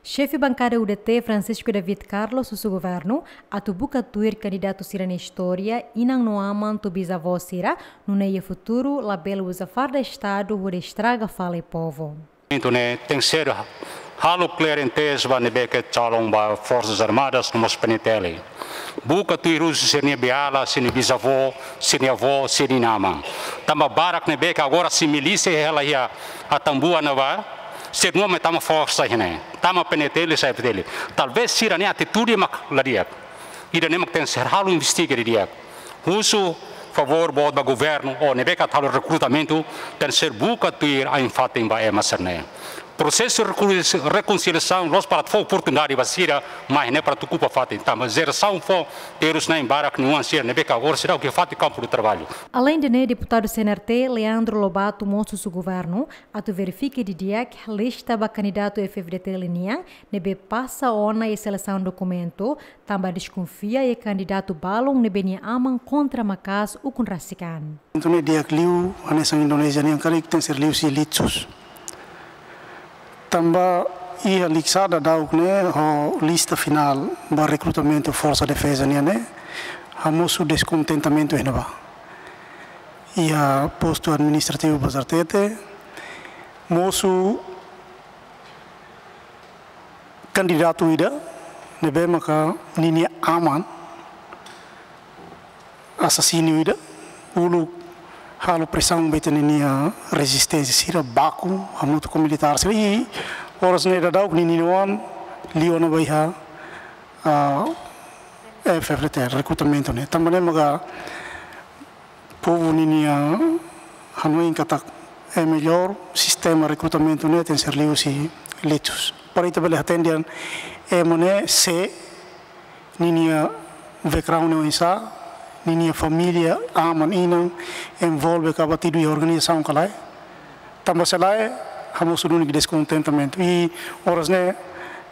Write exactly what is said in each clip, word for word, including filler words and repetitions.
Xefe bankada U D T, Francisco David Carlos, husu governu atu buka tuir kandidatu sira-nia istória, inan no aman to'o bizavó sira, nune'e iha futuru labele uza farda Estadu hodi estraga fali povu. Entaun ne'e tenke ser halo kleren tebes ba ne'ebé ke calon ba Forsas Armadas no mós P N T L. Buka tuir husi sira-nia beiala, sira-nia bizavó, sira-nia avó, sira-nia aman. Tanba barak ne'ebé ke agora sei milísia hela iha Atambua ne'ebá, sira-nia nome tama forsa iha ne'e, tama P N T L, sai P N T L. Talvés sira-nia atitude mak la di'ak. Ida-ne'e mak tenke ser halo investiga didi'ak. Husu favór boot ba governu, ó ne'ebé ke atu halo rekrutamentu, tenke ser buka tuir ain-fatin ba ema sira-ne'e. Prosesu reku-, rekonsiliasaun la'ós para atu fó oportunidade ba sira mai ne'e para atu okupa fatin, tanba jerasaun foun terus na'in-barak nia oan sira ne'ebé ke agora seidauk iha fatin kampu de traballu. Aleinde ne'e, deputadu C N R T, Leandro Lobato, mós husu governu atu verifika didi'ak lista ba kandidatu F F D T nian ne'ebé pasa ona iha selesaun dokumentu, tanba deskonfia iha kandidatu balun ne'ebé nia aman kontra maka'as ukun rasik an. Entaun ne'e di'ak liu, hanesan Indonézia nian karik tenke ser liuhusi litsus. Tanba iha Likisá daudauk ne'e ho lista finál ba rekrutamentu Forsa Defeza nian ne'e, hamosu deskontentamentu iha ne'ebá. Iha postu administrativu Bazartete, mosu kandidatu ida ne'ebé maka ninia aman asasinu ida, uluk halo presaun ba ita-nia ninia rezisténsia sira, baku hamutuk ho militár sira, i oras ne'e daudauk ninia oan liu ona ba iha, ah, F F D T, rekrutamentu ne'e. Tanba ne'e maka povu ninia hanoin katak é melhór sistema rekrutamentu ne'e tenke ser liuhusi litsus. Para ita bele hatene dehan ema ne'e sé, ninia background ne'e oinsá, ninia família, aman, inan, envolve ka abatidu iha organizasaun ka lae. Tanba se lae, hamosu duni deskontentamentu. I oras ne'e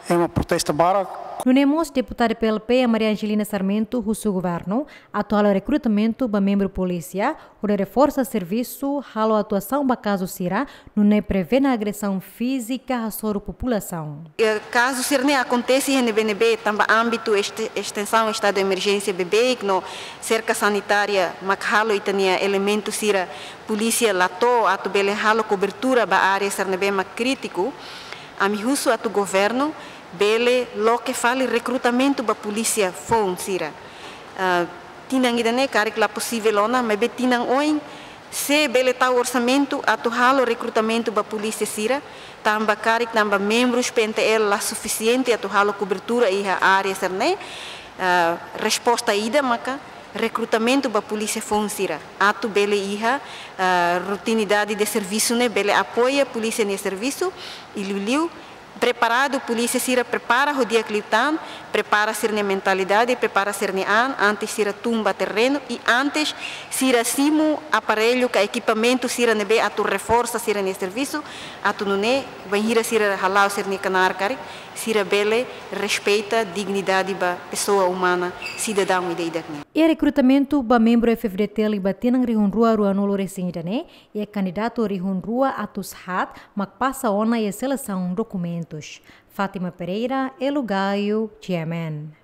ema protesta barak. Nune'e mós deputada P L P, Maria Angelina Sarmento, husu governu atu halo rekrutamentu ba membru polísia, hodi reforsa servisu, halo atuasaun ba kazu sira, nune'e prevene agresaun fízika hasoru populasaun. Eh, kazu sira-ne'e akontese iha ne'ebé-ne'ebé, tanba ámbitu este-, estensaun estadu de emerjénsia beibeik no serka sanitária mak halo ita-nia elementu sira polísia la to'o atu bele halo kobertura ba área sira ne'ebé mak krítiku. Ami husu atu governu bele loke fali rekrutamentu ba polísia foun sira. Ah, tinan ida-ne'e karik la posivel ona, maibé tinan oin, se bele tau orsamentu atu halo rekrutamentu ba polísia sira, tanba karik tanba membrus P N T L la sufisiente atu halo kobertura iha área sira-ne'e, ah, resposta ida maka rekrutamentu ba polísia foun sira, atu bele iha, ah, rotinidade de servisu ne'e bele apoia polísia nia servisu, i liuliu preparadu, polísia sira prepara ho di'ak liután, prepara sira-nia mentalidade, prepara sira-nia an, antes sira tun ba terrenu, i antes sira simu aparellu ka ekipamentu sira ne'ebé atu reforsa sira-nia servisu, atu nune'e, bainhira sira hala'o sira-nia knaar karik, sira bele respeita dignidade ba pesoa umana, sidadaun ida-idak nian. Iha rekrutamentu ba membru F F D T liu ba tinan rihun rua ruanulu-resin-ida ne'e, iha kandidatu rihun rua atus haat mak pasa ona iha selesaun dokumentus. Fátima Pereira, Elo Gaio, G M N.